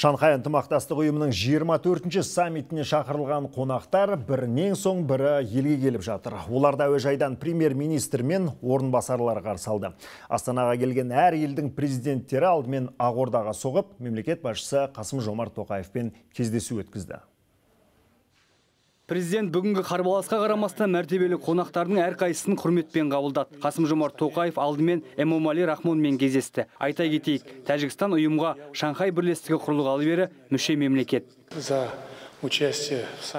Шанхай ынтымақтастық ұйымының 24-ші саммитіне шақырылған қонақтар бірінен соң бірі елге келіп жатыр. Оларда әуежайдан премьер-министр мен орынбасарлар қарсы алды. Астанаға келген әр елдің президенттері алдымен Ақордаға соғып, мемлекет басшысы Қасым-Жомарт Тоқаевпен кездесу өткізді. Президент бүгінгі қарбаласқа қарамастан мәртебелі қонақтардың әрқайсысын құрметпен қабылдады. Қасым-Жомарт Тоқаев алдымен Эмомали Рахмонмен кездесті. Айта кетейік, Тәжікстан ұйымға Шанхай бірлестігі құрылғалы бері мүше мемлекет.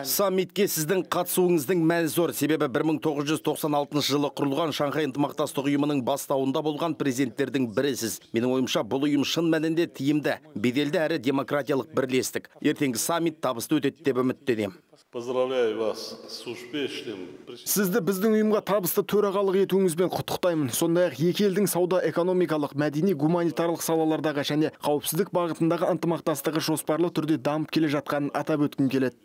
Саммитке сіздің қатысуыңыздың мәні зор. Себебі 1996 жылы құрылған Шанхай ынтымақтастық ұйымының бастауында болған президенттердің бірісіз. Менің ойымша, бұл ұйым шын мәнінде тиімді, беделді әрі демократиялық бірлестік. Ертеңгі саммит табысты өтеді деп үміттенемін. Поздравляю вас с успешным. Сізді біздің ұйымға табысты төрағалық етуіңізбен құттықтаймын. Сондай-ақ екі елдің сауда, экономикалық, мәдени, гуманитарлық салалардағы және қауіпсіздік бағытындағы ынтымақтастығы жоспарлы түрде дамып келе жатқанын атап өткім келеді.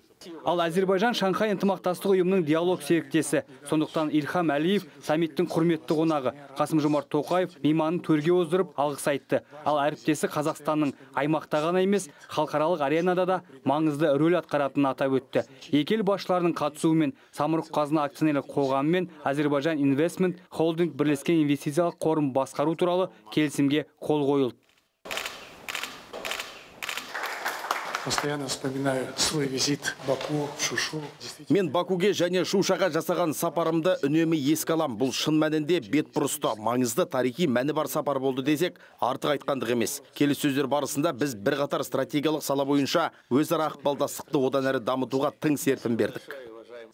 Ал Әзербайжан Шанхай ынтымақтастық ұйымының диалог серіктесі. Сондықтан Ильхам Әлиев саммиттің құрметті қонағы. Қасым-Жомарт Тоқаев мейманын төрге оздырып алғыс айтты. Ал әріптесі Қазақстанның аймақта ғана емес, халықаралық аренада да маңызды рөл атқаратынын атап өтті. Екі ел басшыларының қатысуымен Самұрық-қазына акционерлік қоғамы мен Азербайджан Investment Holding бірлескен инвестициялық қорын басқару туралы келісімге қол қойылды. Постоянно вспоминаю свой визит в Баку, в Шушу. Мен Бакуге және Шушаға жасаған сапарымды үнемі еске алам. Бұл шын мәнінде бетбұрысты, маңызды тарихи мәні бар сапар болды десек, артық айтқандық емес. Келіссөздер барысында біз бірқатар стратегиялық сала бойынша өзара ықпалдастықты одан әрі дамытуға тың серпін бердік.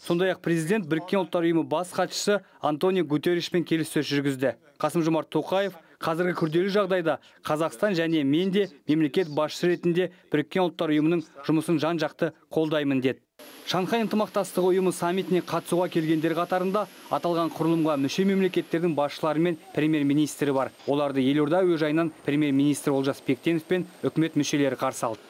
Сондай-ақ президент Біріккен ұлттар ұйымы бас хатшысы Антонио Гутерришпен келіссөз жүргізді. Қасым-Жомарт Тоқаев қазіргі күрделі жағдайда Қазақстан және мен де мемлекет басшысы ретінде Біріккен ұлттар ұйымының жұмысын жан-жақты қолдаймын деді. Шанхай ынтымақтастығы ұйымы саммитіне қатысуға келгендер қатарында аталған құрылымға мүше мемлекеттердің басшылары мен премьер-министрі бар. Оларды елорда әуежайынан премьер-министр Олжас Бектенов пен үкімет мүшелері қарсы алды.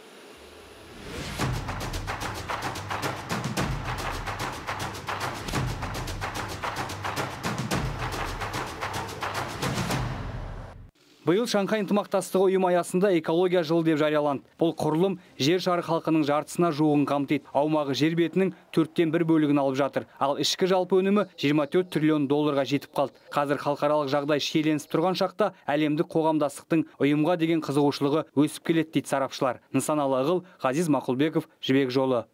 Биыл Шанхай ынтымақтастығы ұйымы аясында экология жылы деп жарияланды. Бұл құрылым жер шары халқының жартысына жуығын қамтиды. Аумағы жер бетінің 1/4 бөлігін алып жатыр. Ал ішкі жалпы өнімі 24 триллион долларға жетіп қалды. Қазір халықаралық жағдай шиеленісіп тұрған шақта әлемдік қоғамдастықтың ұйымға деген қызығушылығы өсіп келеді дейді сарапшылар. Нысаналы Ғазиз Мақұлбеков, Жібек жолы.